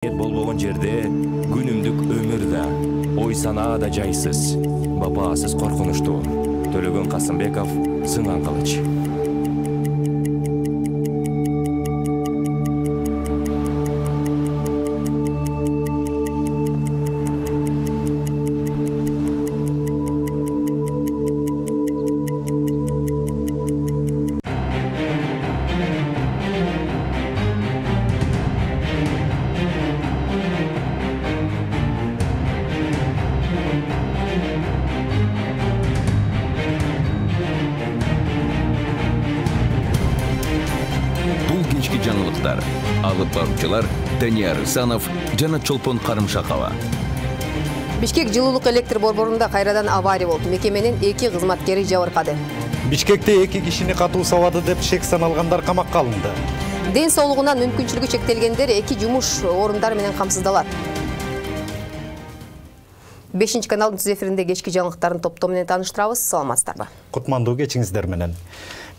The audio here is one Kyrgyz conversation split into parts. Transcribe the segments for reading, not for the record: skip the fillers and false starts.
Болбогон жерде күнүмдүк өмүр да, ой санаа да жайсыз, бабасыз коркунучтуу. Төлөгөн Касымбеков, Сынган кылыч. Жаңылыктар. Алып баруучулар Данияр Исанов жана Чолпон Карымшакова. Бишкек жылуулук электр борборунда кайрадан авария болуп, мекеменин 2 кызматкери жабыркады. Бишкекте 2 кишини катуу сабады деп шек саналгандар камакка алынды. Ден соолугунан мүмкүнчүлүгү чектелгендер 2 жумуш орундары менен камсыздалат. 5 каналдын түз эфиринде кечки жаңылыктардын топтому менен тааныштырабыз. Саламатсыздарбы? Кутмандуу кечиңиздер менен.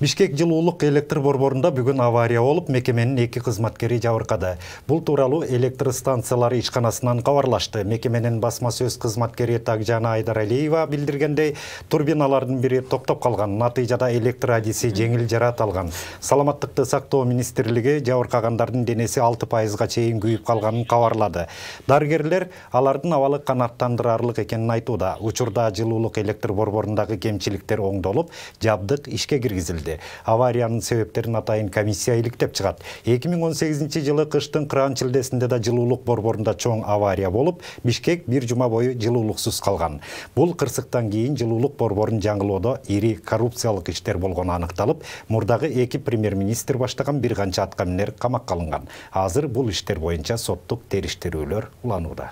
Бишкек жылуулук электр борборунда бүгүн авария болуп, мекеменин 2 кызматкери жабыркады. Бул тууралуу электр станциялары ишканасынан кабарлашты. Мекеменин басма сөз кызматкери Такжана Айдаралиева билдиргендей, турбиналардын бири токтоп калган. Натыйжада электр адиси жеңил жараат алган. Саламаттыкты сактоо министрлиги жабыркагандардын денеси 6%га чейин күйүп калганын кабарлады. Дарыгерлер алардын абалы канааттандырарлык экенин айтууда. Учурда жылуулук электр борборундагы кемчиликтер оңдолуп, жабдык ишке киргизилди. Авариянын себептерин атайын комиссия иликтеп чыгат. 2018-жылы кыштын кыран-чилдесинде да жылуулук борборунда чоң авария болуп, Бишкек 1 жума бою жылуулуксуз калган. Бул кырсыктан кийин жылуулук борборун жаңылоодо ири коррупциялык иштер болгону аныкталып, мурдагы 2 премьер-министр баштаган бир канча аткаминер камакка алынган. Азыр бул иштер боюнча соттук териштирүүлөр уланууда.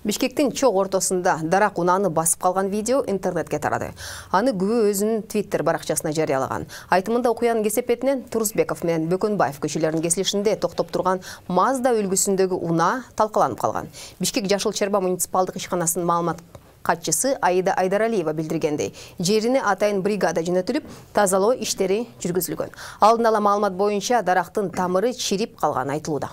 Бишкектин чок ортосунда дарак унааны басып калган видео интернетке тарады. Аны күбө өзүнүн Twitter баракчасына жарыялаган. Айтымында окуянын кесепетинен Турузбеков менен Бөкөнбаев көчөлөрүнүн кесилишинде токтоп турган Mazda үлгүсүндөгү унаа талкаланып калган. Бишкек Жашыл Черба муниципалдык ишканасынын маалымат катчысы Аида Айдаралиева билдиргендей, жерине атайын бригада жөнөтүлүп, тазалоо иштери жүргүзүлгөн. Алдын ала маалымат боюнча дарактын тамыры чирип калганы айтылууда.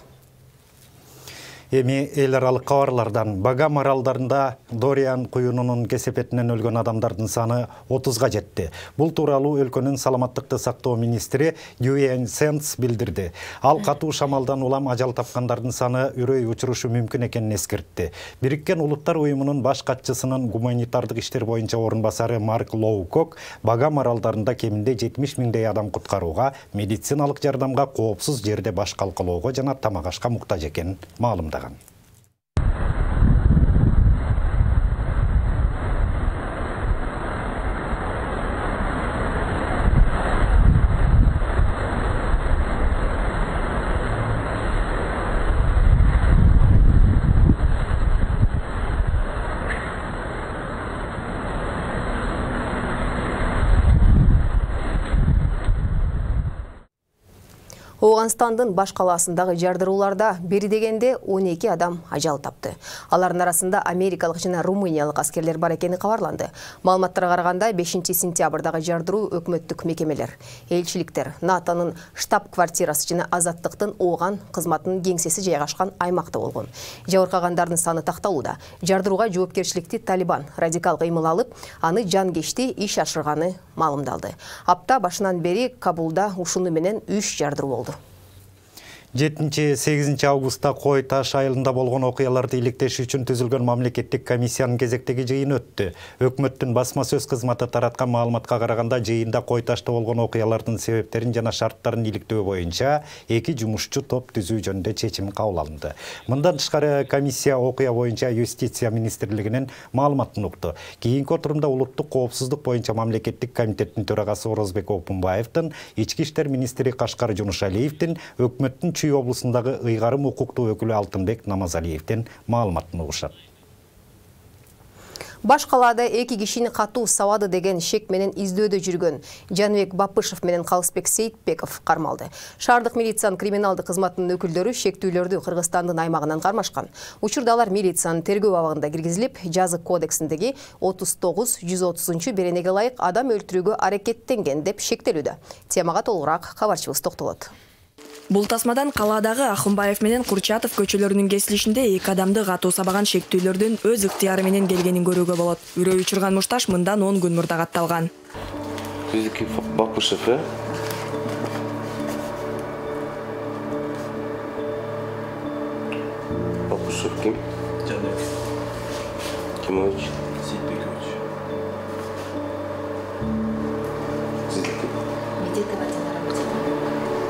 Эми эл аралык кабарлардан Багам аралдарында Дориан куюнунун кесепетинен өлгөн адамдардын саны 30га жетти. Бул тууралуу өлкөнүн саламаттыкты сактоо министри Юэн Сенс билдирди. Ал катуу шамалдан улам ажал тапкандардын саны үрөй учурушу мүмкүн экенин эскертти. Бириккен Улуттар уюмунун баш катчысынын гуманитардык иштер боюнча орун басары Марк Лоукок Багам аралдарында кеминде 70 миңдей адам куткарууга, медициналык жардамга, коопсуз жерде баш калкалоого жана тамак ашка муктаж экенин маалымдаган. Оғанстандын баш калаасындагы жардырууларда бери дегенде 12 адам ажал тапты. Алардын арасында америкалык жана румыниялык аскерлер бар экени кабарланды. Маалыматтарга караганда 5 сентябрдагы жардыруу өкмөттүк мекемелер, элчиликтер, НАТОнун штаб-квартирасы жана Азаттыктын Ооган кызматынын кеңсеси жайгашкан аймакта болгон. Жабыркагандардын саны такталууда. Жардырууга жоопкерчиликти Талибан радикал кыймыл алып, аны жангечти иш ашырганы маалымдалды. Апта башынан бери Кабулда ушуну менен 3 жардыруу болду. 7-8 августта Кой Таш айылында болгон окуяларды иликтеш үчүн түзүлгөн мамлекеттик комиссиянын кезектеги жыйыны өттү. Өкмөттүн басма сөз кызматы тараткан маалыматка караганда жыйында Кой Ташта болгон окуялардын себептерин жана шарттарын иликтөө боюнча 2 жумушчу топ түзүү жөнүндө чечим кабыл алынды. Мындан тышкары комиссия окуя боюнча Юстиция министрлигинин маалыматын укту. Кийинки отурумда улуттук коопсуздук боюнча мамлекеттик комитеттин төрагасы Орозбек Опунбаевдин, ички иштер министри Кашкар Жунушалиевдин, өкмөттүн облусундагы ыйгарым укуктуу өкүлү Алтынбек Намазалиевдин маалыматын угушат. Баш калаада 2 кишини катуу сабады деген шек менен издөөдө жүргөн Жаныбек Бапышев менен Калысбек Сейитбеков кармалды. Шаардык милициянын криминалдык кызматынын өкүлдөрү шектүүлөрдү Кыргызстандын аймагынан кармашкан. Учурда алар милициянын тергөө абагында киргизилип, жазык кодексиндеги 39-130 беренеге ылайык адам өлтүрүүгө аракеттенген деп шектелүүдө. Темага толугураак кабарчыбыз токтолот. Бул тасмадан калаадагы Ахунбаев менен Курчатов көчөлөрүнүн кесилишинде 2 адамды катуу сабаган шектүүлөрдүн өз ыктыяры менен келгенин көрүүгө болот. Үрөө учурган мушташ мындан 10 күн мурда катталган. Биздики Бакушев, Бакушев ким? Жанбек. Кимович? Сейитбекович.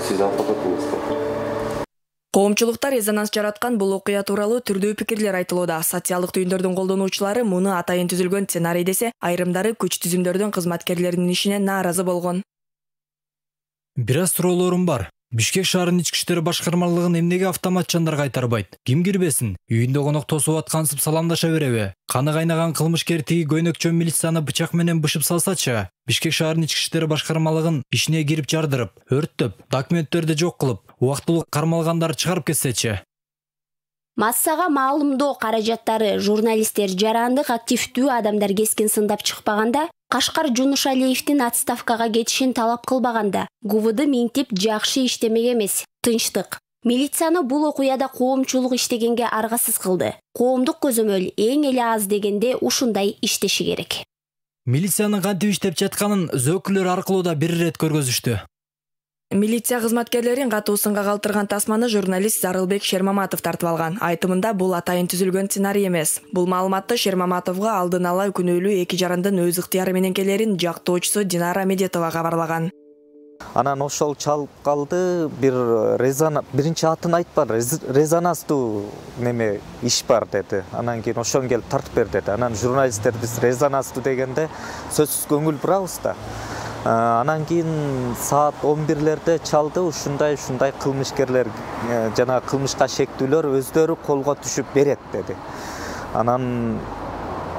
Сиз аппаратыңызда. Коомчулукта резонанс жараткан бул окуя тууралуу түрдүү пикирлер айтылууда. Социалдык түйүндөрдүн колдонуучулары муну атайын түзүлгөн сценарий десе, айрымдары күч түзүмдөрдүн кызматкерлеринин ишине нааразы болгон. Бир аз суроолорум бар. Бишкек шаарынын ички иштер башкармалыгын эмнеге автоматчандар кайтарбайт? Ким кирбесин? Үйүндө конок тосуп аткансып саламдаша береби? Каны кайнаган кылмышкер тиги көйнөкчө милицияны бычак менен бышып салсачы? Бишкек шаарынын ички иштер башкармалыгын ишине кирип жардырып, өрттөп, документтерди жок кылып, убактылуу кармалгандарды чыгарып кетсечи? Массага маалымдоо каражаттары журналисттер жарандык активдүү адамдар кескин сындап чыкпаганда, Кашкар Жунушалиевдин отставкага кетишин талап кылбаганда, ГУВД минтип жакшы иштемек эмес, тынчтык. Милицияны бул окуяда коомчулук иштегенге аргасыз кылды. Коомдук көзөмөл эң эле аз дегенде ушундай иштеши керек. Милициянын кантип иштеп жатканын өкүлдөр аркылуу да бир ирет көргөзүштү. Милиция кызматкерлерин катуу сынга калтырган тасманы журналист Зарылбек Шермаматов тартып алган. Айтымында бул атайын түзүлгөн сценарий эмес. Бул маалыматты Шермаматовго алдын ала күнөөлүү 2 жарандын өз ыктыяры менен келерин жактоочусу Динара Медетова кабарлаган. Анан ошол чалып калды, биринчи атын айтпады, резонанстуу неме иш бар деди. Анан кийин ошон келип тартып бер деди. Анан журналисттер биз резонанстуу дегенде сөзсүз көңүл бурабыз да. Анан кийин саат 11-лерде чалды, ушундай кылмышкерлер жана кылмышка шектүүлөр өздөрү колго түшүп берет деди. Анан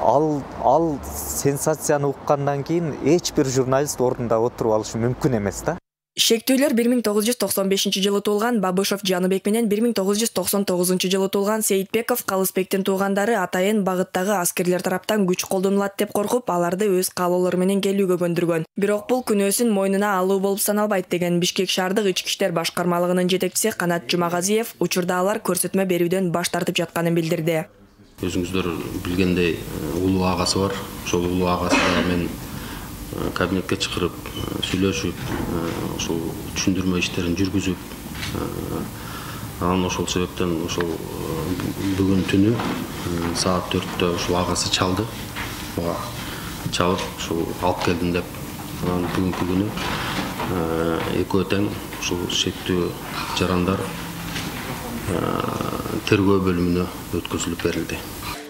ал сенсацияны уккандан кийин эч бир журналист ордунда отуруп алышы мүмкүн эмес да. Шектүүлөр 1995-жылы туулган Бабышев Жаныбек менен 1999-жылы туулган Сейитбеков Калысбектин туугандары атайын багыттагы аскерлер тараптан күч колдонулат деп коркуп, аларды өз каалоолору менен келүүгө көндүргөн. Бирок бул күнөөсүн мойнуна алуу болуп саналбайт деген Бишкек шаардык ички иштер башкармалыгынын жетекчиси Канат Жумагазиев учурда алар көрсөтмө берүүдөн баш тартып жатканын билдирди. Өзүңүздөр билгендей улуу агасы бар. Ошол улуу агасына мен кабинетке чакырып сүйлөшүп, ошол түшүндүрмө иштерин жүргүзүп, анан ошол себептен ошол бүгүн түнү саат 4-тө ошол агасы чалды. Чалып ошол алып келдим деп. Анан бүгүнкү күнү экөө тең ошол шектүү жарандар тергөө бөлүмүнө өткөзүлүп берилди.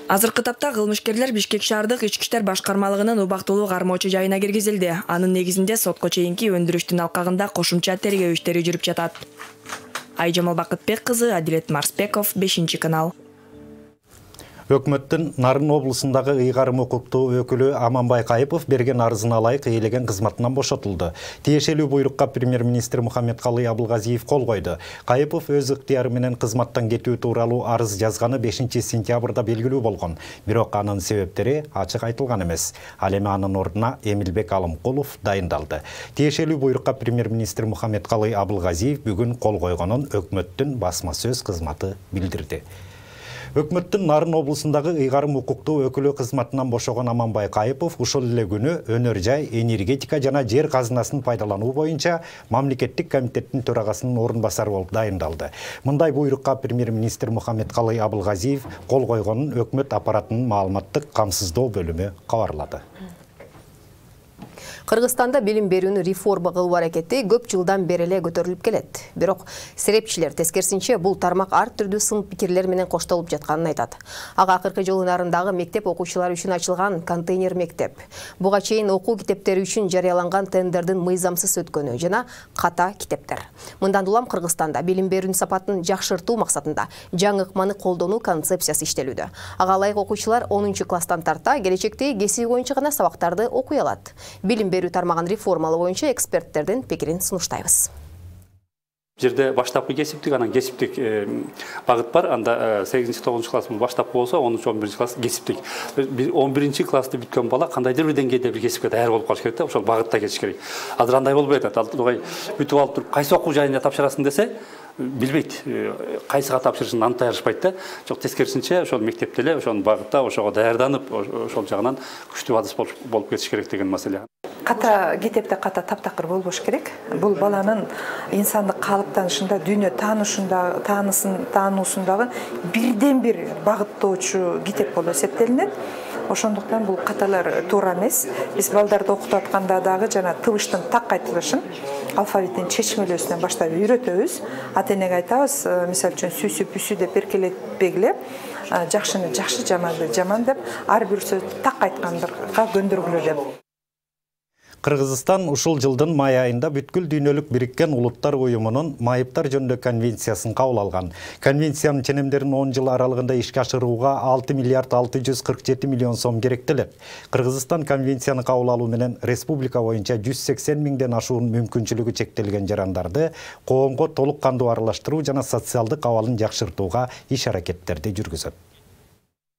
Азыркы тапта кылмышкерлер Бишкек шаардык ички иштер башкармалыгынын убактылуу кармоочу жайына киргизилди. Анын негизинде сотко чейинки өндүрүштүн алкагында кошумча тергөө иштери жүрүп жатат. Айжамал Бакытбек кызы, Адилет Марсбеков, 5-канал. Өкмөттүн Нарын облусундагы ыйгарым укуктуу өкүлү Аманбай Кайыпов берген арызына ылайык ээлеген кызматынан бошотулду. Тиешелүү буйрукка премьер-министр Мухаммедкалый Абылгазиев кол койду. Кайыпов өз ыктыяры менен кызматтан кетүү тууралуу арыз жазганы 5-сентябрда белгилүү болгон. Бирок анын себептери ачык айтылган эмес. Ал эми анын ордуна Эмилбек Алымкулов дайындалды. Тиешелүү буйрукка премьер-министр Мухаммедкалый Абылгазиев бүгүн кол койгонун өкмөттүн басма сөз кызматы билдирди. Өкмөттүн Нарын облусундагы ыйгарым укуктуу өкүлү кызматынан бошогон Аманбай Кайыпов ушул эле күнү өнөр жай, энергетика жана жер казынасын пайдалануу боюнча мамлекеттик комитеттин төрагасынын орун басары болуп дайындалды. Мындай буйрукка премьер-министр Мухаммедкалый Абылгазиев кол койгонун өкмөт аппаратынын маалыматтык камсыздоо бөлүмү кабарлады. Кыргызстанда билим берүүнү реформа кылуу аракети көп жылдан бери эле көтөрүлүп келет. Бирок серепчилер тескерисинче бул тармак ар түрдүү сын пикирлер менен коштолуп жатканын айтат. Ага акыркы жылы Нарындагы мектеп окуучулары үчүн ачылган контейнер мектеп, буга чейин окуу китептери үчүн жарыяланган тендердин мыйзамсыз өткөнү жана ката китептер. Мындан улам Кыргызстанда билим берүүнүн сапатын жакшыртуу максатында жаңы ыкманы колдонуу концепциясы иштелүүдө. Ага ылайык окуучулар 10-класстан тарта келечекте кесиби боюнча гана сабактарды окуй алат. Билим берүү тармагын реформалоо боюнча эксперттердин пикирин сунуштайбыз. Жерде баштапкы кесиптик, анан кесиптик багыт бар. Анда 8-9 класс баштапкы болсо, 10-11 класс кесиптик. 11 классты бүткөн бала кандайдыр бир деңгээлде бир кесипке даяр болуп калыш керек да, ошол багытта кетиш керек. Азыр андай болбой атат. Ал бүтүп алып туруп, кайсы окуу жайына тапшырасың десе, билбейт. Кайсыга тапшырышын антай алышпайт да. Жок, тескерисинче ошол мектепте эле ошол багытта ошого даярданып, ошол жагынан күчтүү адыс болуп кетиш керек деген маселе. Ката китепте ката таптакыр болбош керек. Бул баланын инсандык калыптанышында, дүйнө таануусундагы бирден бир багыттоочу китеп болуп эсептелинет. Ошондуктан бул каталар туура эмес. Биз балдарды окутуп атканда дагы жана тыбыштын так айтылышын, алфавиттин чечмелөөсүнөн баштап үйрөтөбүз. Ата-энеге айтабыз, мисалы үчүн сүсү пүсү деп беркелетпегиле, жакшыны жакшы, жаманды жаман деп, ар бир сөздү так айткандырга көндүргүлө деп. Кыргызстан ушул жылдын май айында бүткүл дүйнөлүк бириккен улуттар уюмунун майыптар жөнүндө конвенциясын кабыл алган. Конвенциянын ченемдерин 10 жыл аралыгында ишке ашырууга 6 миллиард 647 миллион сом керектелет. Кыргызстан конвенцияны кабыл алуу менен республика боюнча 180 миңден ашуун мүмкүнчүлүгү чектелген жарандарды коомго толук кандуу аралаштыруу жана социалдык абалын жакшыртууга иш-аракеттерди жүргүзөт.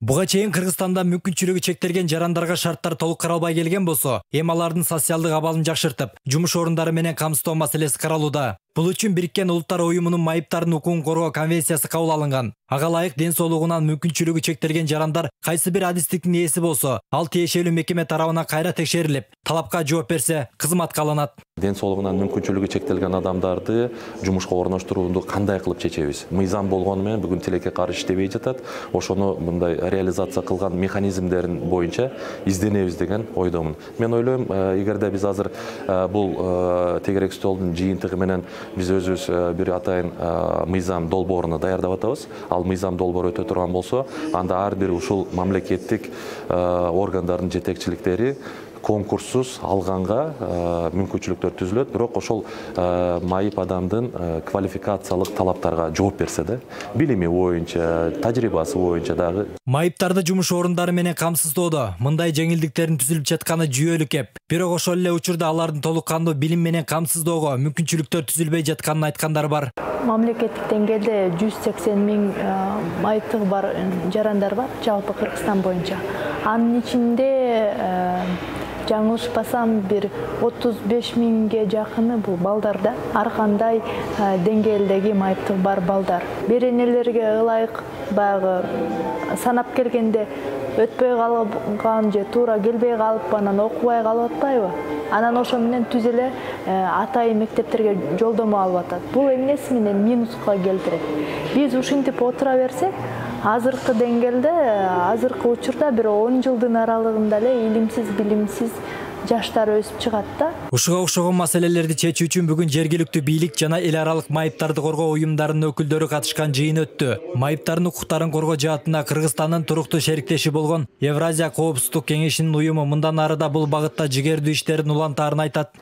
Буга чейин Кыргызстанда мүмкүнчүлүгү чектелген жарандарга шарттар толук каралбай келген болсо, эми алардын социалдык абалын жакшыртып, жумуш орундары менен камсыздоо маселеси каралууда. Бул үчүн Бириккен Улуттар уюмунун майыптардын укугун коргоо конвенциясы кабыл алынган. Ага ылайык ден соолугунан мүмкүнчүлүгү чектелген жарандар кайсы бир адистиктин ээси болсо, ал тиешелүү мекеме тарабынан кайра текшерилип, талапка жооп берсе, кызматка алынат. Ден соолугунан мүмкүнчүлүгү чектелген адамдарды жумушка орноштурууну кандай кылып чечебиз? Мыйзам болгону менен бүгүн тилекке каршы иштебей жатат. Ошону мындай реализация кылган механизмдерин боюнча изденебиз деген ойдомун. Мен ойлойм, эгерде биз азыр бул тегерек столдун жыйынтыгы менен биз өзүбүз бир атайын мыйзам долбооруну даярдап атабыз. Ал мыйзам долбоору өтө турган болсо, анда ар бир ушул мамлекеттик органдардын жетекчиликтери конкурссуз алганга мүмкүнчүлүктөр түзүлөт, бирок ошол майып адамдын квалификациялык талаптарга жооп берсе да, билими боюнча, тажрыйбасы боюнча дагы. Майыптарды жумуш орундары менен камсыздоодо мындай жеңилдиктердин түзүлүп жатканы жүйөлүк эп. Бирок ошол эле учурда алардын толук кандуу билим менен камсыздоого мүмкүнчүлүктөр түзүлбөй жатканын айткандар бар. Мамлекеттик деңгээлде 180 миң майыптыгы бар жарандар бар, жалпы Кыргызстан боюнча. Анын ичинде жаңылышпасам бир 35 миңге жакыны бул балдарда, ар кандай деңгээлдеги майыптыгы бар балдар. Беренелерге ылайык баягы санап келгенде өтпөй калган же туура келбей калып, анан окубай калып атпайбы? Анан ошо менен түз эле атайын мектептерге жолдомо алып атат. Бул эмнеси менен минуска келтирет. Биз ушинтип отура берсек, азыркы деңгээлде, азыркы учурда бир 10 жылдын аралыгында эле илимсиз, билимсиз жаштар өсүп чыгат да. Ушуга окшогон маселелерди чечүү үчүн бүгүн жергиликтүү бийлик жана эл аралык майыптарды коргоо уюмдарынын өкүлдөрү катышкан жыйын өттү. Майыптардын укуктарын коргоо жаатында Кыргызстандын туруктуу шериктеши болгон Евразия коопсуздук кеңешинин уюму мындан ары да бул багытта жигердүү иштерин улантаарын айтат.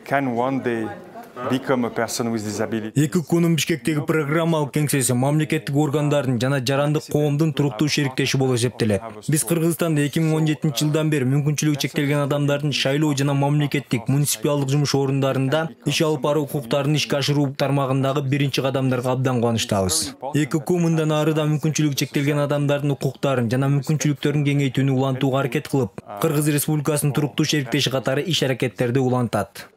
ЭККнун Бишкектеги программалык кеңсеси мамлекеттик органдардын жана жарандык коомдун туруктуу шериктеши болуп эсептелет. Биз Кыргызстанда 2017 жылдан бери мүмкүнчүлүгү чектелген адамдардын шайлоо жана мамлекеттик муниципалдык жумуш орундарында иш алып баруу укуктарын ишке ашыруу тармагындагы биринчи кадамдарга абдан кубанычтабыз. ЭКК мындан ары да мүмкүнчүлүгү чектелген адамдардын укуктарын жана мүмкүнчүлүктөрүн кеңейтүүнү улантууга аракет кылып, Кыргыз Республикасынын туруктуу шериктеши катары иш-аракеттерди улантат.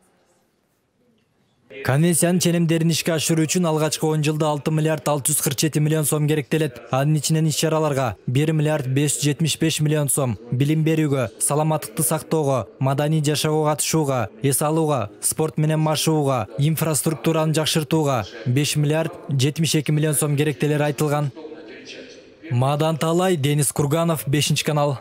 Конвенциянын ченемдерин ишке ашыруу үчүн алгачкы 10 жылда 6 миллиард 647 миллион сом керектелет. Анын ичинен иш-чараларга 1 миллиард 575 миллион сом, билим берүүгө, саламаттыкты сактоого, маданий жашоого катышууга, эс алууга, спорт менен машыгууга, инфраструктураны жакшыртууга 5 миллиард 72 миллион сом керектелери айтылган. Мадан Талай, Денис Курганов, 5-канал.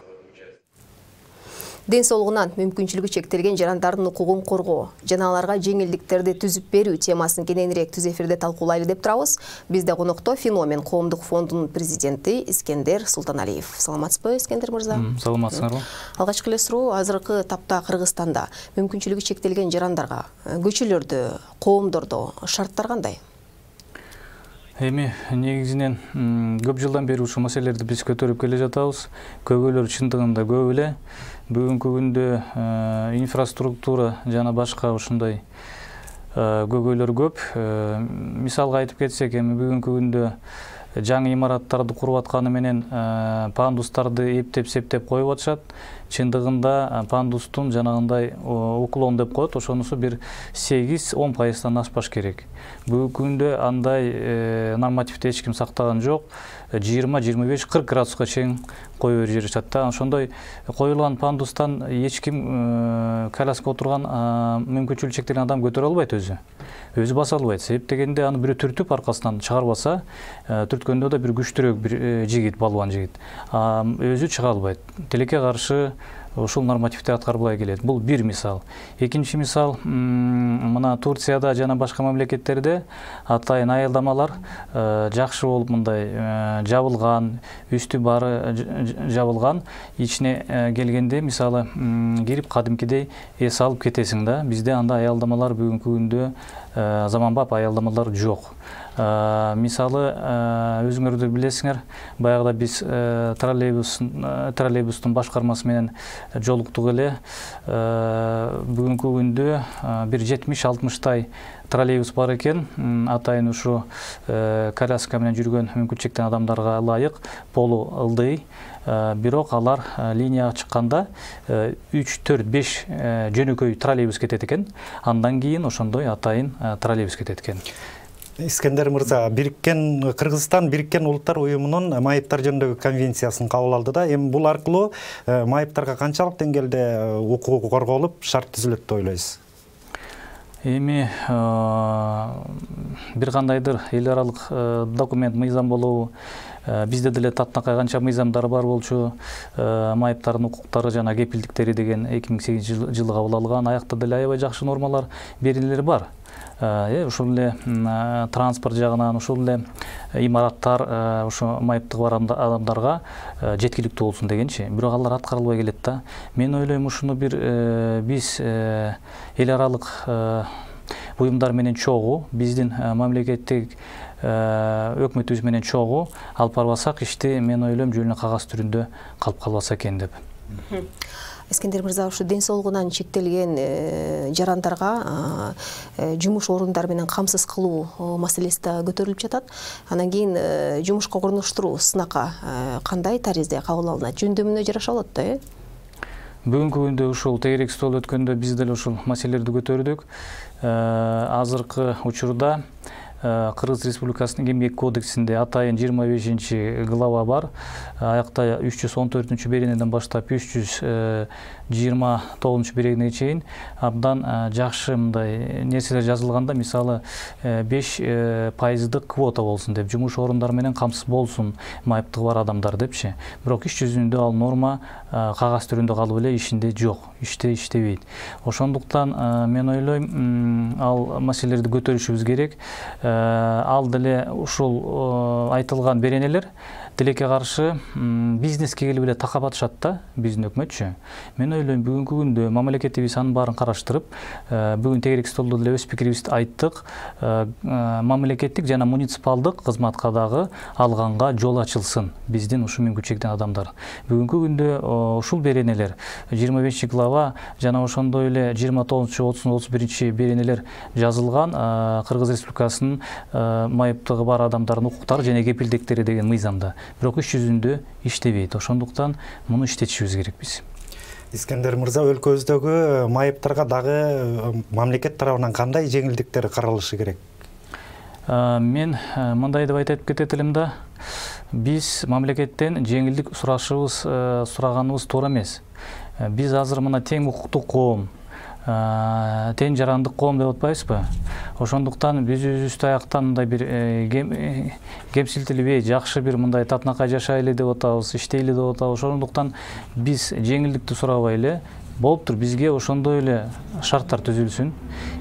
Ден соолугунан мүмкүнчүлүгү чектелген жарандардын укугун коргоо жана аларга жеңилдиктерди түзүп берүү темасын кененирээк түз эфирде талкуулайлы деп турабыз. Бизде конокто Феномен коомдук фондунун президенти Искендер Султаналиев. Саламатсызбы, Искендер мырза? Саламатсыздарбы. Алгачкы эле суроо, азыркы тапта Кыргызстанда мүмкүнчүлүгү чектелген жарандарга көчөлөрдө, коомдордо шарттар кандай? Эми негизинен көп жылдан бери ушул маселелерди биз көтөрүп келе жатабыз. Көбөлөр чындыгында көп эле. Бүгүнкү күндө инфраструктура жана башка ушундай көйгөйлөр көп. Мисалга айтып кетсек, эми бүгүнкү күндө жаңы имараттарды куруп атканы менен пандустарды эптеп-септеп коюп атышат. Чындыгында пандустун жанагындай уклон деп коет, ошонусу бир 8-10% ашпаш керек. Бүгүнкү күндө андай нормативди эч ким сактаган жок. 20-25-40 градуска чейин коюп жиберишет да. Ошондой коюлган пандустан эч ким коляска отурган мүмкүнчүлүгү чектелген адам көтөрө албайт өзү баса албайт. Себеп дегенде аны бирөө түртүп аркасынан чыгарбаса, түрткөндө да бир күчтүүрөөк бир жигит, балбан жигит өзү чыга албайт. Тилекке каршы ушул нормативди аткарбай келет. Бул бир мисал. Экинчи мисал, мына Турцияда жана башка мамлекеттерде атайын аялдамалар жакшы болуп мындай жабылган, үстү баары жабылган. Ичине келгенде мисалы кирип кадимкидей эс алып кетесиң да. Бизде анда аялдамалар бүгүнкү күндө заманбап аялдамалар жок. Мисалы өзүңөрдөр билесиңер, баягыда биз троллейбустун башкармасы менен жолуктук эле. Бүгүнкү күндө бир 70-60 троллейбус бар экен. Атайын ушу коляска менен жүргөн мүмкүнчүлүгү чектелген адамдарга ылайык, полу ылдый. Бирок алар линияга чыкканда 3-4-5 жөнөкөй троллейбус кетет экен. Андан кийин ошондой атайын троллейбус кетет экен. Искендер мырза, Кыргызстан Бириккен Улуттар Уюмунун майыптар жөнүндөгү конвенциясын кабыл алды да. Эми бул аркылуу майыптарга канчалык деңгээлде укугу корголуп, шарт түзүлөт деп ойлойсуз? Эми бир кандайдыр эл аралык документ, мыйзам болобу, бизде деле татынакай канча мыйзамдар бар болчу, майыптардын укуктары жана кепилдиктери деген 2008-жылы кабыл алган, аякта деле аябай жакшы нормалар, беренелер бар. Ушул эле транспорт жагынан, ушул эле имараттар ошо майыптыгы бар адамдарга жеткиликтүү болсун дегенчи. Бирок алар аткарылбай келет да. Мен ойлойм, ушуну бир биз эл аралык уюмдар менен чогуу, биздин мамлекеттик өкмөтүбүз менен чогуу алып барбасак, ишти мен ойлойм жөн эле кагаз түрүндө калып калбаса экен деп. Искендер мырза, ушу ден соолугунан чектелген жарандарга жумуш орундары менен камсыз кылуу маселеси да көтөрүлүп жатат. Анан кийин жумушка орноштуруу сынакка кандай таризде кабыл алынат? Жөндөмүнө жараша болот да, э? Бүгүнкү күндө ушул тегерек стол өткөндө биз деле ушул маселелерди көтөрдүк. Азыркы учурда Кыргыз Республикасынын Эмгек кодексинде атайын 25-глава бар. Аякта 314 беренеден баштап 329 беренеге чейин абдан жакшы мындай нерселер жазылганда, мисалы 5% квота болсун деп, жумуш орундары менен камсыз болсун майыптыгы бар адамдар депчи. Бирок иш жүзүндө ал норма кагаз түрүндө калып эле, ишинде жок, иштебейт. Ошондуктан мен ойлойм, ал маселелерди көтөрүшүбүз керек. Ал деле ушул айтылган беренелер тилекке каршы бизнеске келип эле такап атышат да, биздин өкмөтчү. Мен ойлойм, бүгүнкү күндө мамлекетибиз анын баарын караштырып, бүгүн тегерек столдо деле өз пикирибизди айттык. Мамлекеттик жана муниципалдык кызматка дагы алганга жол ачылсын биздин ушу мүмкүнчүлүгү чектелген адамдар. Бүгүнкү күндө ушул беренелер 25-глава жана ошондой эле 29-30-31 беренелер жазылган Кыргыз Республикасынын майыптыгы бар адамдардын укуктары жана кепилдиктери деген мыйзамда. Бирок иш жүзүндө иштебейт. Ошондуктан муну иштетишибиз керек биз. Искендер мырза, өлкөбүздөгү майыптарга дагы мамлекет тарабынан кандай жеңилдиктер каралышы керек? Мен мындай деп айтып кетет элем да. Биз мамлекеттен жеңилдик сураганыбыз туура эмес. Биз азыр мына тең укуктуу коом, тең жарандык коом деп атпайбызбы? Ошондуктан биз өзүбүздү аяктан мындай бир кемсинтилбей, жакшы бир мындай татынакай жашайлы деп атабыз, иштейли деп атабыз. Ошондуктан биз жеңилдикти сурабай эле, болуптур, бизге ошондой эле шарттар түзүлсүн,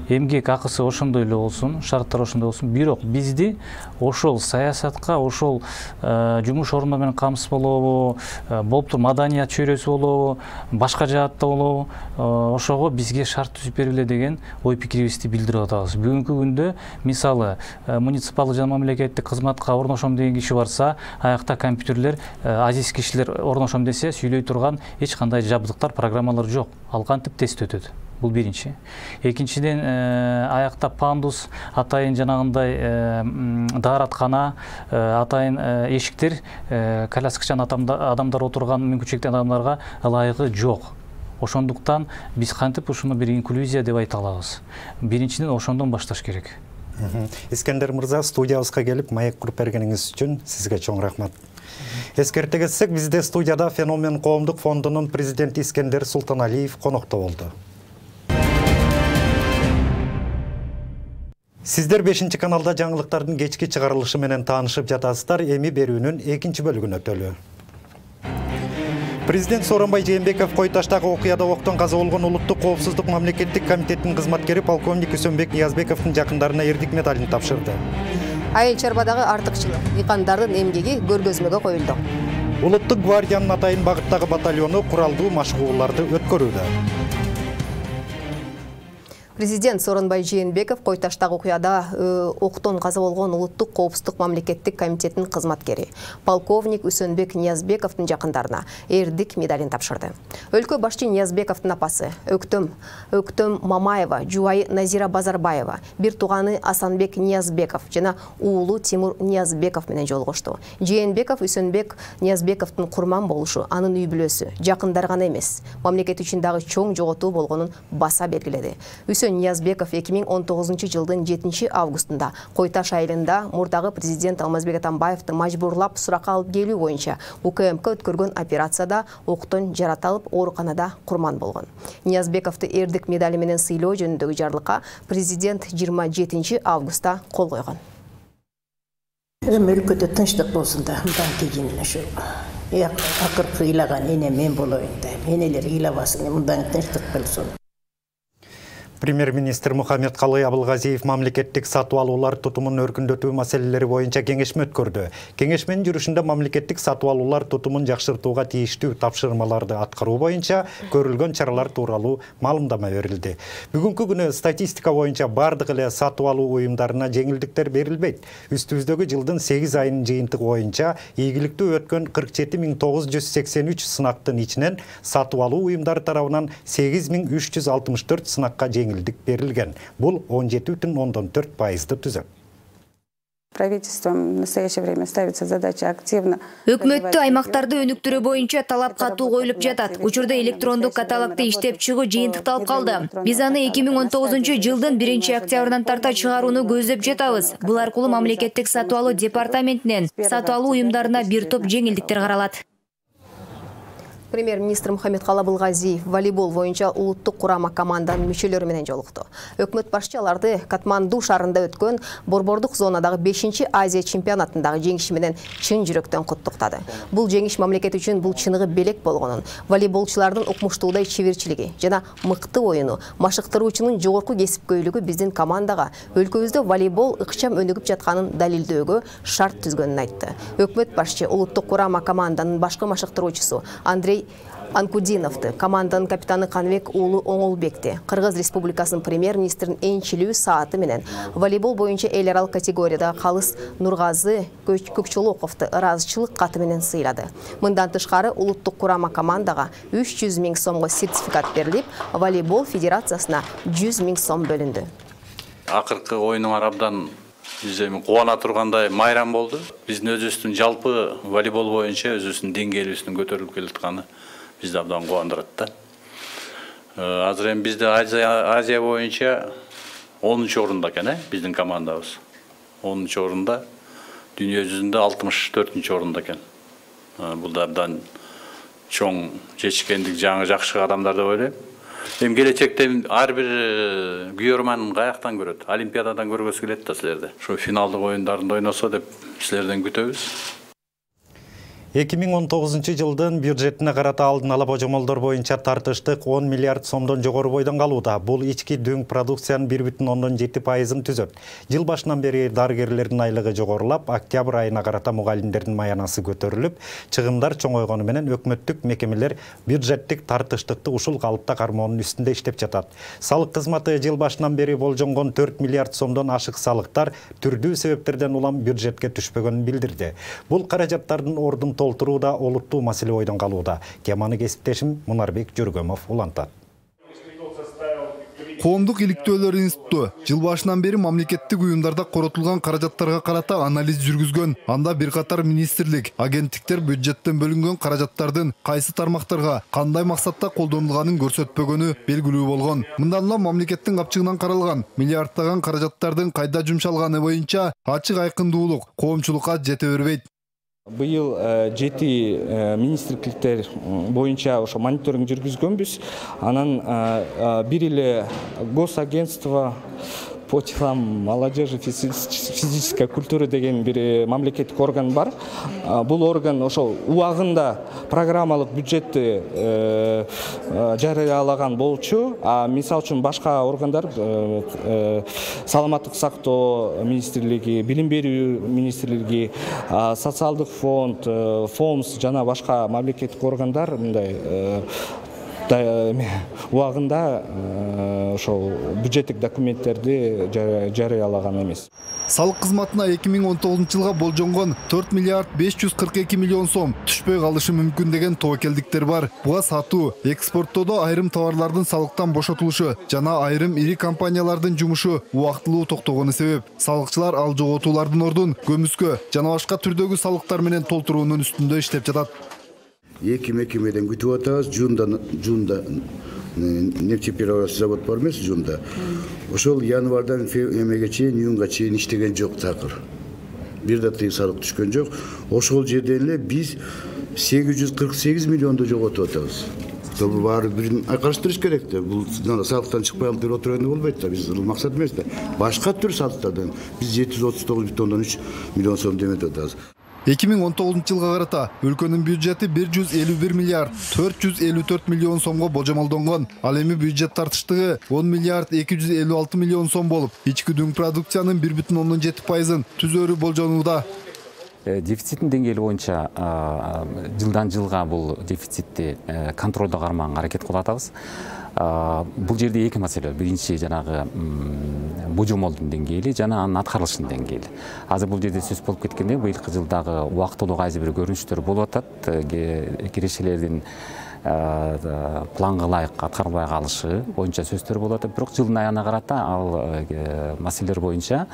эмгек акысы ошондой эле болсун, шарттар ошондой болсун. Бирок бизди ошол саясатка, ошол жумуш орундары менен камсыз болобу, болуптур, маданият чөйрөсү болобу, башка жаатта болобу, ошого бизге шарт түзүп бергиле деген ой пикирибизди билдирип атабыз. Бүгүнкү күндө мисалы муниципалдык жана мамлекеттик кызматка орношом деген киши барса, аякта компьютерлер, азиз кишилер орношом десе, сүйлөй турган эч кандай жабдыктар, программалар жок. Ал кантип тест өтөт? Бул биринчи. Экинчиден, аякта пандус, атайын жанагындай даараткана, атайын эшиктер коляскачан адамдар отурган мүмкүнчүлүктүү адамдарга ылайыгы жок. Ошондуктан биз кантип ушуну бир инклюзия деп айта алабыз. Биринчиден ошондон башташ керек. Искендер мырза, студиябызга келип маек куруп бергениңиз үчүн сизге чоң рахмат. Эскерте кетсек, бизде студияда Феномен коомдук фондунун президенти Искендер Султаналиев конокто болду. Сиздер 5-чи каналда жаңылыктардын кечки чыгарылышы менен таанышып жатасыздар. Эми берүүнүн экинчи бөлүгүнө өтөлү. Президент Сооронбай Жээнбеков Кой Таштагы окуяда октон каза болгон Улуттук коопсуздук мамлекеттик комитетинин кызматкери полковник Үсөнбек Ниязбековдун жакындарына эрдик медалин тапшырды. Айыл чарбадагы артыкчылык, дыйкандардын эмгеги көргөзмөгө коюлду. Улуттук гвардиянын атайын багыттагы батальону куралдуу машыгууларды өткөрүүдө. Президент Сооронбай Жээнбеков Кой Таштагы окуяда октон каза болгон Улуттук коопсуздук мамлекеттик комитетинин кызматкери полковник Үсөнбек Ниязбековдун жакындарына эрдик медалин тапшырды. Өлкө башчы Ниязбековдун апасы Өктөм Мамаева, жубайы Назира Базарбаева, бир тууганы Асанбек Ниязбеков жана уулу Тимур Ниязбеков менен жолугушту. Жээнбеков Үсөнбек Ниязбековдун курман болушу анын үй бүлөсү, жакындар гана эмес, мамлекет үчүн дагы чоң жоготуу болгонун баса белгиледи. Ниязбеков 2019 жылдын 7 августунда Кой Таш айылында мурдагы президент Алмазбек Атамбаевди мажбурлап суракка алып келүү боюнча УКМК өткөргөн операцияда октон жаратылып ооруканада курман болгон. Ниязбековду эрдик медали менен сыйлоо жөнүндөгү жарлыкка президент 27 августта кол койгон. Өлкөдө тынчтык болсун да, мындан кийин ушу акыркы ыйлаган эне мен болоюн да, энелер ыйлабасын, мындан тынчтык болсун. Премьер-министр Мухаммед Калый Абылгазиев мамлекеттик сатып алуулар тутумун өркүндөтүү маселелери боюнча кеңешме өткөрдү. Кеңешменин жүрүшүндө мамлекеттик сатып алуулар тутумун жакшыртууга тийиштүү тапшырмаларды аткаруу боюнча көрүлгөн чаралар тууралуу маалымдама берилди. Бүгүнкү күнү статистика боюнча бардык эле сатып алуу уюмдарына жеңилдиктер берилбейт. Үстүбүздөгү жылдын 8 айынын жыйынтыгы боюнча ийгиликтүү өткөн 47983 сынактын ичинен сатып алуу уюмдары тарабынан 8364 сынакка жеңилдик берилген. Бул 17,4%-ды түзөт. Правительством в настоящее время ставится задача активно. Өкмөттү аймактарды өнүктүрүү боюнча талап катуу коюлуп жатат. Учурда электрондук каталогду иштеп чыгуу жыйынтыкталып калды. Биз аны 2019 жылдын 1 октябрынан тарта чыгарууну көздөп жатабыз. Бул аркылуу мамлекеттик сатып алуу департаментинен сатып алуу уюмдарына бир топ жеңилдиктер каралат. Премьер-министр Мухаммед Калый Абылгазиев волейбол боюнча улуттук курама команданын мүчөлөрү менен жолукту. Өкмөт башчы аларды Катманду шаарында өткөн борбордук зонадагы 5-чи Азия чемпионатындагы жеңиши менен чын жүрөктөн куттуктады. Бул жеңиш мамлекет үчүн бул чыныгы белек болгонун, волейболчулардын укмуштуудай чеберчилиги жана мыкты оюну, машыктыруучунун жогорку кесипкөйлүгү биздин командага өлкөбүздө волейбол ыкчам өнүгүп жатканын далилдөөгө шарт түзгөнүн айтты. Өкмөт башчы улуттук курама команданын башкы машыктыруучусу Андрей Анкудиновду, команданын капитаны Канбек уулу Оңолбекти, Кыргыз Республикасынын премьер-министринин энчилүү сааты менен волейбол боюнча эл аралык категорияда Калыс Нургазы Көкчолоковду ыраазычылык каты менен сыйлады. Мындан тышкары улуттук курама командага 300 000 сомго сертификат берилип, волейбол федерациясына 100 000 сом бөлүндү. Акыркы оюнуңар абдан биз эми кубана тургандай майрам болду. Биздин өзүбүздүн жалпы волейбол боюнча өзүбүздүн деңгээлибиздин көтөрүлүп келатканы бизди абдан кубандырат да. Азыр эми бизде Азия боюнча 10-орунда экен, биздин командабыз. 10-орунда, дүйнө жүзүндө 64-орунда экен. Бул да абдан чоң жетишкендик, жаңы жакшы адамдар деп ойлойм. Эми келечекте ар бир күйөрман каяктан көрөт? Олимпиададан көргөсү келет да силерди. Ошо финалдык оюндарында ойносо деп силерден күтөбүз. 2019 жылдын бюджетине карата алдын ала божомолдор боюнча тартыштык 10 миллиард сомдон жогору бойдон калууда. Бул ички дүң продукциянын 1,7%-ын түзөт. Жыл башынан бери дарыгерлердин айлыгы жогорулап, октябрь айына карата мугалимдердин маянасы көтөрүлүп, чыгымдар чоңойгону менен өкмөттүк мекемелер бюджеттик тартыштыкты ушул калыпта кармоонун үстүндө иштеп жатат. Салык кызматы жыл башынан бери болжонгон 4 миллиард сомдон ашык салыктар түрдүү себептерден улам бюджетке түшпөгөнүн билдирди. Бул каражаттардын ордун толтурууда олуттуу маселе ойдон калууда. Теманы кесиптешим Мунарбек Жүргөмов улантат. Коомдук иликтөөлөр институту жыл башынан бери мамлекеттик уюмдарда коротулган каражаттарга карата анализ жүргүзгөн. Анда бир катар министрлик, агенттиктер бюджеттен бөлүнгөн каражаттардын кайсы тармактарга кандай максатта колдонулганын көрсөтпөгөнү белгилүү болгон. Мындан улам мамлекеттин капчыгынан каралган миллиарддаган каражаттардын кайда жумшалганы боюнча ачык айкындуулук коомчулукка жете бербейт. Быйыл 7 министрликтер боюнча ошо мониторинг жүргүзгөнбүз. Анан бир эле госагентство по делам молодежи физической культуры деген бир мамлекеттик орган бар. Бул орган ошо убагында программалык бюджетти жарыялаган болчу. Мисалы үчүн башка органдар саламаттык сактоо министрлиги, билим берүү министрлиги, социалдык фонд, ФОМС жана башка мамлекеттик органдар мындай убагында ошол бюджеттик документтерди жарыялаган эмес. Салык кызматына 2019 жылга болжонгон 4 миллиард 542 миллион сом түшпөй калышы мүмкүн деген тобокелдиктер бар. Буга сатуу, экспорттоодо айрым товарлардын салыктан бошотулушу жана айрым ири компаниялардын жумушу убактылуу токтогону себеп. Салыкчылар ал жоготуулардын ордун көмүскө жана башка түрдөгү салыктар менен толтуруунун үстүндө иштеп жатат. Эки мекемеден күтүп атабыз. Жунда нефтеперерабатывающий завод бар эмес, Жунда. Ошол январдан эмеге чейин, июнга чейин иштеген жок такыр. Бир да тыйын салык түшкөн жок. Ошол жерден эле биз 848 миллионду жоготуп атабыз. Баары бирин айкалыштырыш керек да. Бул салыктан чыкпай алып берип отурганда болбойт да. Биз максат эмес да. Башка түр салыктардан биз 739,3 миллион сом деметип атабыз. 2019 жылга карата өлкөнүн бюджети 151 миллиард 454 миллион сомго болжомолдонгон. Ал эми бюджет тартыштыгы 10 миллиард 256 миллион сом болуп, ички дүң продукциянын 1,7%-ын түзөрү болжонууда. Дефициттин деңгээли боюнча жылдан жылга бул дефицитти контролдо кармаганга аракет кылып атабыз. Бул жерде эки маселе. Биринчи жанагы божомолдун деңгээли жана анын аткарылышынын деңгээли. Азыр бул жерде сөз болуп кеткенде быйылкы жылдагы убактылуу кайсы бир көрүнүштөр болуп атат. Кирешелердин планга ылайык аткарылбай калышы боюнча сөздөр болуп атат. Бирок жылдын аягына карата ал маселелер боюнча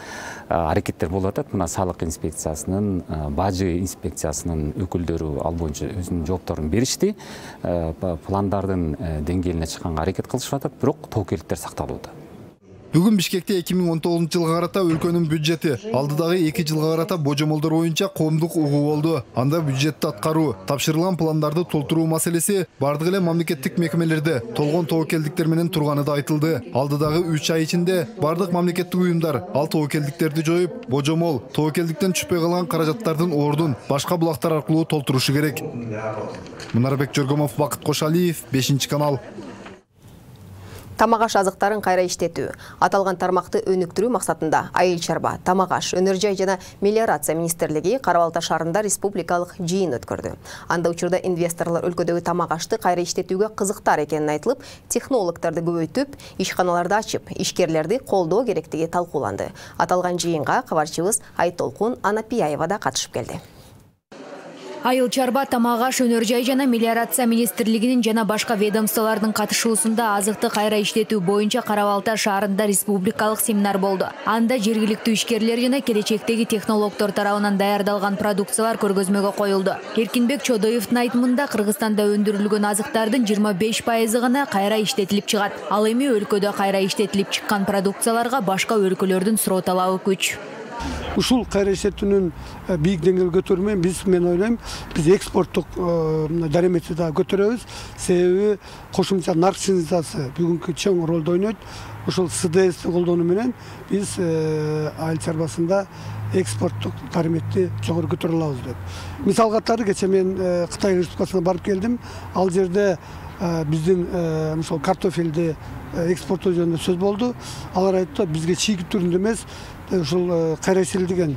аракеттер болуп атат. Мына салык инспекциясынын, бажы инспекциясынын өкүлдөрү ал боюнча өзүнүн жоопторун беришти. Пландардын деңгээлине чыкканга аракет кылышып атат, бирок тобокелдиктер сакталууда. Бүгүн Бишкекте 2019 жылга карата өлкөнүн бюджети алдыдагы 2 жылга карата божомолдор боюнча коомдук угуу болду. Анда бюджетти аткаруу, тапшырылган пландарды толтуруу маселеси бардык эле мамлекеттик мекемелерде толгон тобокелдиктер менен турганы да айтылды. Алдыдагы 3 ай ичинде бардык мамлекеттик уюмдар ал тобокелдиктерди жоюп, божомол, тобокелдиктен түшпөй калган каражаттардын ордун башка булактар аркылуу толтурушу керек. Мунарбек Жөргөмов, Бакыт Кошалиев, 5-канал. Тамак аш азыктарын кайра иштетүү. Аталган тармакты өнүктүрүү максатында Айыл чарба, тамак аш, өнөр жай жана мелиорация министрлиги Кара Балта шаарында республикалык жыйын өткөрдү. Анда учурда инвесторлор өлкөдөгү тамак ашты кайра иштетүүгө кызыктар экенин айтылып, технологдорду көбөйтүп, ишканаларды ачып, ишкерлерди колдоо керектиги талкууланды. Аталган жыйынга кабарчыбыз Айтолкун Анапияева да катышып келди. Айыл чарба, тамак аш, өнөр жай жана мелиорация министрлигинин жана башка ведомстволордун катышуусунда азыкты кайра иштетүү боюнча Кара Балта шаарында республикалык семинар болду. Анда жергиликтүү ишкерлер жана келечектеги технологдор тарабынан даярдалган продукциялар көргөзмөгө коюлду. Эркинбек Чодоевдун айтымында Кыргызстанда өндүрүлгөн азыктардын 25% гана кайра иштетилип чыгат. Ал эми өлкөдө кайра иштетилип чыккан продукцияларга башка өлкөлөрдүн суроо талабы күч. Ушул кайра иштетүүнүн бийик деңгээлге көтөрүү мен ойлойм, биз экспорттук дареметти да көтөрөбүз. Себеби кошумча нарк синтезасы бүгүнкү чоң ролду ойнойт. Ушул СДСти колдонуу менен биз айыл чарбасында экспорттук дареметти жогору көтөрө алабыз деп. Мисал катары кечээ мен Кытай Республикасына барып келдим. Ал жерде биздин ошол картофелди экспорттоо жөнүндө сөз болду. Алар айтты, бизге чийгит түрүндө эмес, ушул кайра иштетилген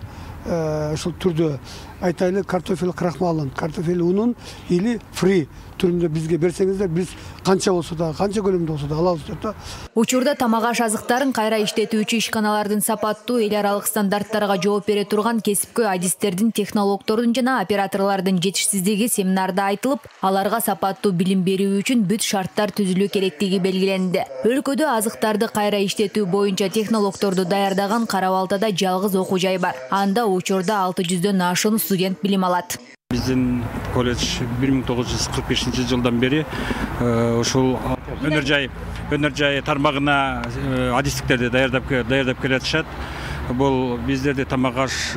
ушул түрдө айтайлы картофель крахмалын, картофель унун или фри түрүндө бизге берсеңиздер, биз канча болсо да, канча көлөмдө болсо да алабыз деп да. Учурда тамак аш азыктарын кайра иштетүүчү ишканалардын сапаттуу эл аралык стандарттарга жооп бере турган кесипкөй адистердин, технологдордун жана операторлордун жетишсиздиги семинарда айтылып, аларга сапаттуу билим берүү үчүн бүт шарттар түзүлүү керектиги белгиленди. Өлкөдө азыктарды кайра иштетүү боюнча технологдорду даярдаган Кара Балтада жалгыз окуу жай бар. Анда учурда 600дөн ашуун студент билим алат. Биздин колледж 1945-жылдан бери ушул өнөр жай тармагына адистиктерди даярдап келатышат. Бул биздерде тамак аш,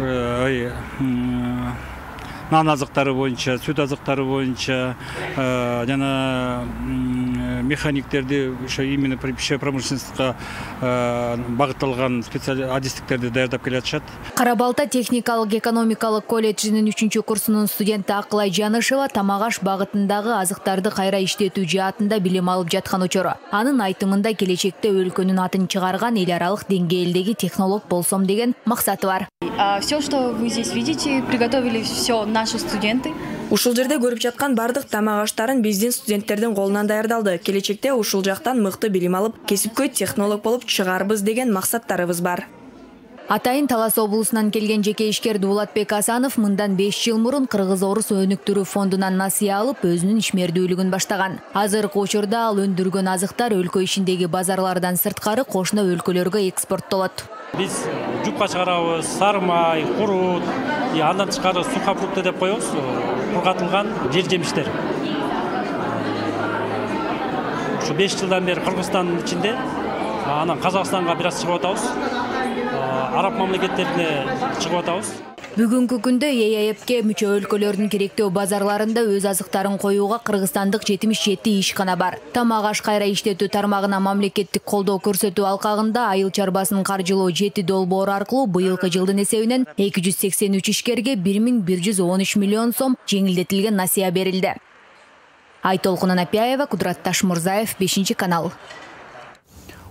нан азыктары боюнча, сүт азыктары боюнча жана механиктерди ошо именно пищевой промышленностька багытталган адистиктерди даярдап келатышат. Кара Балта техникалык экономикалык колледжинин 3 курсунун студенти Акылай Жанышева тамак аш багытындагы азыктарды кайра иштетүү жаатында билим алып жаткан учуру. Анын айтымында келечекте өлкөнүн атын чыгарган эл аралык деңгээлдеги технолог болсом деген максаты бар. Все, что вы здесь видите, приготовили все наши студенты. Ушул жерде көрүп жаткан бардык тамак аштарын биздин студенттердин колунан даярдалды. Келечекте ушул жактан мыкты билим алып, кесипкөй технолог болуп чыгарбыз деген максаттарыбыз бар. Атайын Талас облусунан келген жеке ишкер Дуулатбек Асанов мындан 5 жыл мурун Кыргыз-Орус өнүктүрүү фондунан насыя алып, өзүнүн ишмердүүлүгүн баштаган. Азыркы учурда ал өндүргөн азыктар өлкө ичиндеги базарлардан сырткары кошуна өлкөлөргө экспорттолот. Биз жупка чыгарабыз, сары май, курут, андан тышкары сухофрукты деп коебуз, кургатылган жер жемиштер. Ушу 5 жылдан бери Кыргызстандын ичинде, анан Казакстанга бир аз чыгып атабыз. Араб мамлекеттерине чыгып атабыз. Бүгүнкү күндө ЕАЭПке мүчө өлкөлөрдүн керектөө базарларында өз азыктарын коюуга кыргызстандык 77 ишкана бар. Тамак аш кайра иштетүү тармагына мамлекеттик колдоо көрсөтүү алкагында айыл чарбасын каржылоо 7 долбоор аркылуу быйылкы жылдын эсебинен 283 ишкерге 1113 миллион сом жеңилдетилген насыя берилди. Айтолкун Анапияева, Кудрат Ташмурзаев, 5-канал.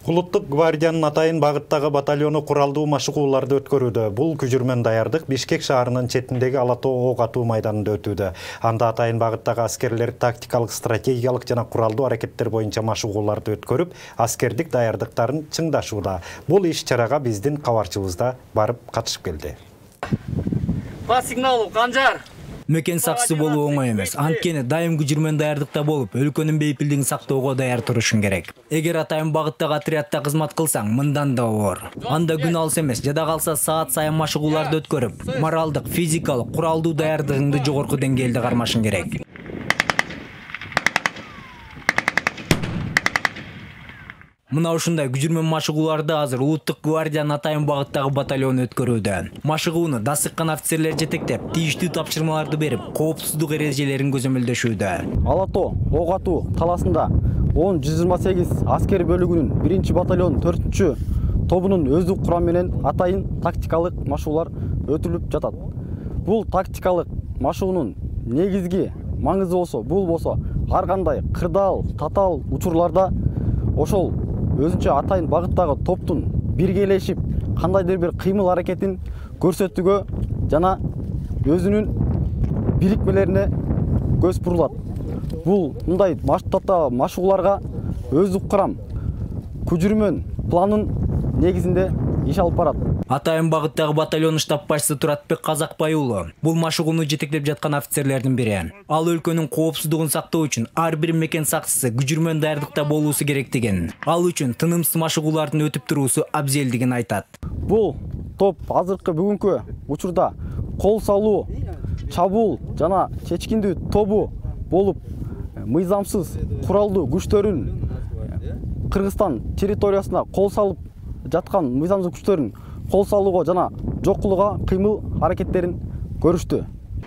Улуттук гвардиянын атайын багыттагы батальону куралдуу машыгууларды өткөрүүдө. Бул күжүрмөн даярдык Бишкек шаарынын четиндеги Алатоо ок атуу майданында өтүүдө. Анда атайын багыттагы аскерлер тактикалык, стратегиялык жана куралдуу аракеттер боюнча машыгууларды өткөрүп, аскердик даярдыктарын чыңдашууда. Бул иш-чарага биздин кабарчыбыз да барып катышып келди. Па сигналу Канжар. Мекен сакчысы болуу оңой эмес. Анткени дайым күжүрмөн даярдыкта болуп, өлкөнүн бейпилдигин сактоого даяр турушуң керек. Эгер атайын багыттагы отрядда кызмат кылсаң, мындан да оор. Анда күн алыс эмес, жада калса саат сайын машыгууларды өткөрүп, моралдык, физикалык, куралдуу даярдыгыңды жогорку деңгээлде кармашың керек. Мына ушундай күжүрмөн машыгууларды азыр Улуттук гвардиянын атайын багыттагы батальону өткөрүүдө. Машыгууну дасыккан офицерлер жетектеп, тийиштүү тапшырмаларды берип, коопсуздук эрежелерин көзөмөлдөшүүдө. Алатоо ок атуу таласында 10-128 аскер бөлүгүнүн 1-батальон 4 тобунун өздүк курам менен атайын тактикалык машыгуулар өтүлүп жатат. Бул тактикалык машыгуунун негизги маңызы бул болсо, ар кандай кырдаал, татаал учурларда ошол өзүнчө атайын багыттагы топтун биргелешип кандайдыр бир кыймыл аракетин көрсөтүүгө жана өзүнүн бирикмелерине көз бурулат. Бул мындай машыгууларга өздүк курам күжүрмөн планын негизинде иш алып барат. Атайын багыттагы батальон штаб башчысы Туратбек Казакбай уулу бул машыгууну жетектеп жаткан офицерлердин бири. Ал өлкөнүн коопсуздугун сактоо үчүн ар бир мекен сакчысы күжүрмөн даярдыкта болуусу керектигин, ал үчүн тынымсыз машыгуулардын өтүп туруусу абзелдигин айтат. Бул топ азыркы бүгүнкү учурда кол салуу, чабуул жана чечкиндүү тобу болуп, мыйзамсыз куралдуу күчтөрүн Кыргызстан территориясына кол салып жаткан мыйзамсыз күчтөрүн кол салууга жана жок кылууга кыймыл аракеттерин көрүштү.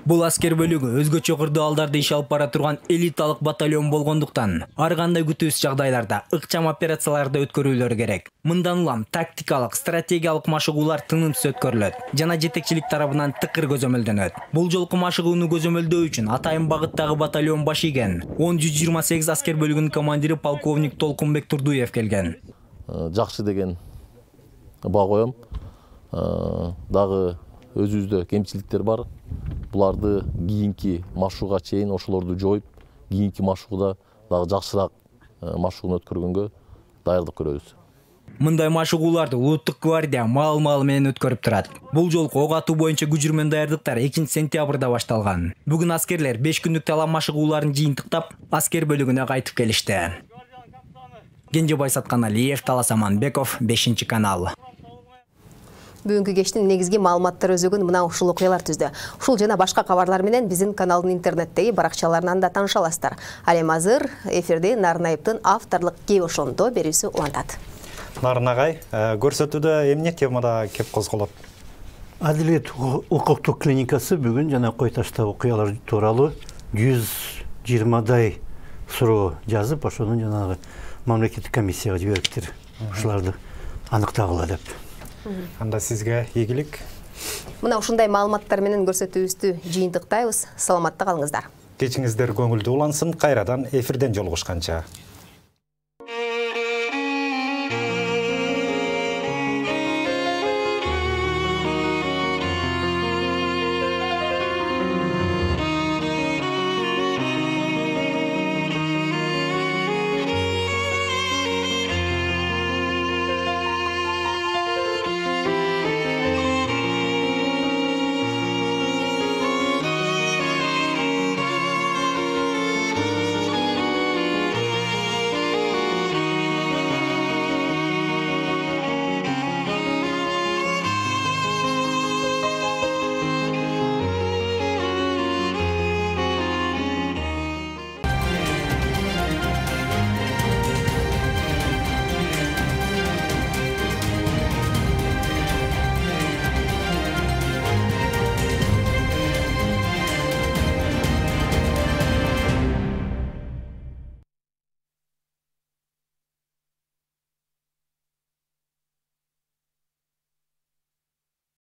Бул аскер бөлүгү өзгөчө кырдаалдарда иш алып бара турган элиталык батальон болгондуктан ар кандай күтүүсүз жагдайларда ыкчам операцияларды өткөрүүлөр керек. Мындан улам тактикалык, стратегиялык машыгуулар тынымсыз өткөрүлөт жана жетекчилик тарабынан тыкыр көзөмөлдөнөт. Бул жолку машыгууну көзөмөлдөө үчүн атайын багыттагы батальон баш ийген 10-128 аскер бөлүгүнүн командири полковник Толкунбек Турдуев келген. Жакшы деген баа коем. Дагы өзүбүздө кемчиликтер бар. буларды кийинки машыгууга чейин ошолорду жоюп, кийинки машыгууда дагы жакшыраак машыгууну өткөргөнгө даярдык көрөбүз. Мындай машыгууларды улуттук гвардия маал-маал менен өткөрүп турат. Бул жолку ок атуу боюнча күжүрмөн даярдыктар 2-сентябрда башталган. Бүгүн аскерлер 5 күндүк талап машыгууларын жыйынтыктап, аскер бөлүгүнө кайтып келишти. Кенжебай Сатканалиев, Талас Аманбеков, 5-канал. Бүгүнкү кештин негизги маалыматтар өзөгүн мына ушул окуялар түздү. Ушул жана башка кабарлар менен биздин каналдын интернеттеги баракчаларынан да тааныша аласыздар. Ал эми азыр эфирде Нарынаевдин авторлук кеп ошондо берүүсү улантат. Нарын агай, көрсөтүүдө эмне темада кеп козголот? Адилет укуктук клиникасы бүгүн жана Кой Ташта окуялар тууралуу 120дай суроо жазып, ошону жанагы мамлекеттик комиссияга жибериптир. Ушуларды аныктагыла деп. Анда сизге ийгилик. Мына ушундай маалыматтар менен көрсөтүүбүздү жыйынтыктайбыз. Саламатта калыңыздар. Кечиңиздер көңүлдүү улансын. Кайрадан эфирден жолугушканча.